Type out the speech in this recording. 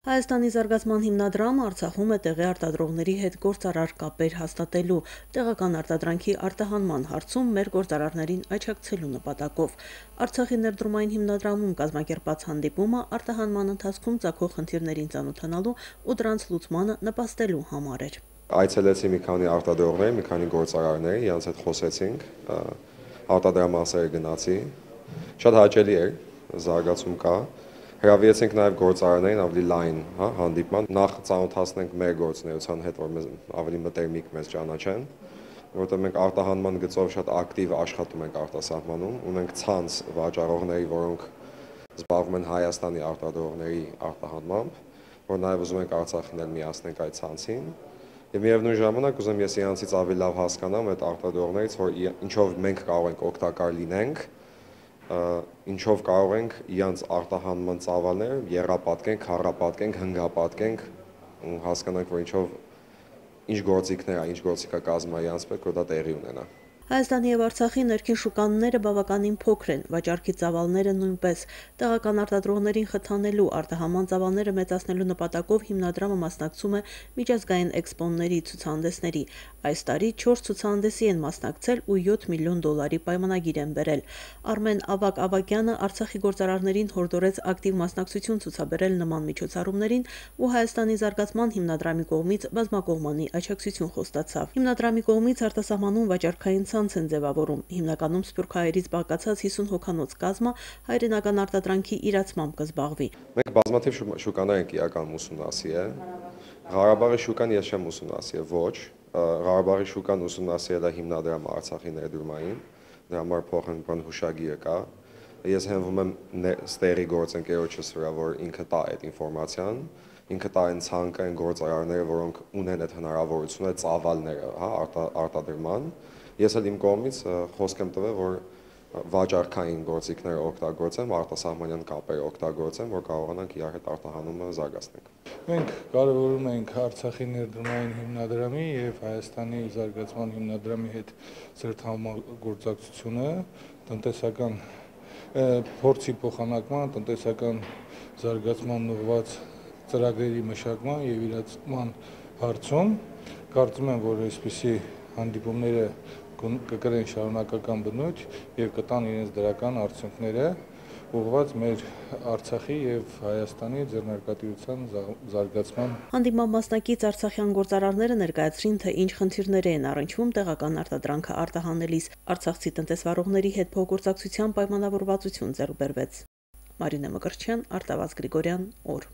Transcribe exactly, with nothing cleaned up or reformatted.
Հայաստանի զարգացման հիմնադրամը Արցախում է տեղի արտադրողների հետ գործարար կապեր հաստատելու, տեղական արտադրանքի արտահանման հարցում մեր գործարարներին աջակցելու նպատակով։ Արցախի ներդրումային հիմնադրամում կազմակերպած հանդիպումը արտահանման ընթացքում ծագող խնդիրներին ծանոթանալու ու դրանց լուծմանը նպաստելու համար էր։ Այցելեցի մի քանի արտադրողներ, մի քանի գործարարներ, իրենց հետ խոսեցինք, արտադրամասերը գնացի, շատ հաճելի էր, զարգացում կա։ Հրավիրեցինք նաև գործարարներին ավելի լայն հանդիպման, նախ ծանոթացնենք մեր գործունեության հետ, որ մեզ ավելի մտերմիկ մեզ ճանաչեն, որովհետև մենք արտահանման գծով շատ ակտիվ աշխատում ենք արտասահմանում, ունենք ցանց վաճառողների, որոնք զբաղվում են Հայաստանի արտադրողների արտահանմամբ, որ նաև ուզում ենք Արցախին էլ միացնենք այդ ցանցին։ Եվ միևնույն ժամանակ ուզում ես իրանցից ավելի լավ հասկանամ այդ արտադրողներից, որ ինչով մենք կարող ենք օգտակար լինենք, ինչով կարող ենք իրանց արտահանման ծավալները եռապատկենք, քառապատկենք, հնգապատկենք ու հասկանանք, որ ինչով ինչ գործիքներ, ինչ գործիքակազմ է իրանց պետք, որ դա տեղի ունենա։ Հայաստանի եւ Արցախի ներքին շուկաները բավականին փոքր են, վաճառքի ծավալները նույնպես։ Տեղական արտադրողներին խթանելու, արտահանման ծավալները մեծացնելու նպատակով հիմնադրամը մասնակցում է միջազգային էքսպոների, ցուցահանդեսների։ Այս տարի չորս ցուցահանդեսի են մասնակցել ու յոթ միլիոն դոլարի պայմանագիր են բերել։ Արմեն Ավագ Ավագյանը Արցախի գործարարներին հորդորեց ակտիվ մասնակցություն ցուցաբերել նման միջոցառումներին ու Հայաստանի զարգացման հիմնադրամի կողմից բազմակողմանի աջակցություն խոստացավ։ Հիմնադրամի կողմից արտասահմանում վաճառքային ցանց են ձևավորում, հիմնականում սփյուռքահայերից բաղկացած հիսուն հոգանոց կազմը հայրենական արտադրանքի իրացմամբ կզբաղվի։ Մենք բազմաթիվ շուկաներ ենք իրականում ուսումնասիրել։ Ղարաբաղի շուկան ես չեմ ուսումնասիրել, ոչ։ Ղարաբաղի շուկան ուսումնասիրել է հիմնադրամը Արցախի ներդրումային, դրա համար փոխանցման հուշագիրը կա։ Ես հենվում եմ ստերի գործընկերոջս վրա, որ ինքը տա այդ ինֆորմացիան, ինքը տա այն ցանկը, այն գործարարները, որոնք ունեն այդ հնարավորությունը, ծավալները, հա, արտադրման։ Ես էլ իմ կողմից խոսք եմ տվել, որ վաճառքային գործիքները օգտագործեմ, արտասահմանյան կապեր օգտագործեմ, որ կարողանանք իրար հետ արտահանումը զարգացնենք։ Մենք կարևորում ենք Արցախի ներդրումային հիմնադրամի եւ Հայաստանի զարգացման հիմնադրամի հետ ծրտ համագործակցությունը, տնտեսական փորձի փոխանակման, տնտեսական զարգացման ուղղված ծրագրերի մշակման եւ իրացման հարցում։ Կարծում եմ, որ այսպիսի հանդիպումները կկրեն շարունակական բնույթ եւ կտան իրենց դրական արդյունքները ուղղված մեր Արցախի եւ Հայաստանի ձեռնարկատիրության զարգացման։ Հանդիպման մասնակից արցախյան գործարարները ներկայացրին, թե ինչ խնդիրներ են առնչվում տեղական արտադրանքը արտահանելիս։ Արցախցի տնտեսվարողների հետ փոխգործակցության պայմանավորվածություն ձեռք բերվեց։ Մարինե Մկրտչյան, Արտավազդ Գրիգորյան, օր։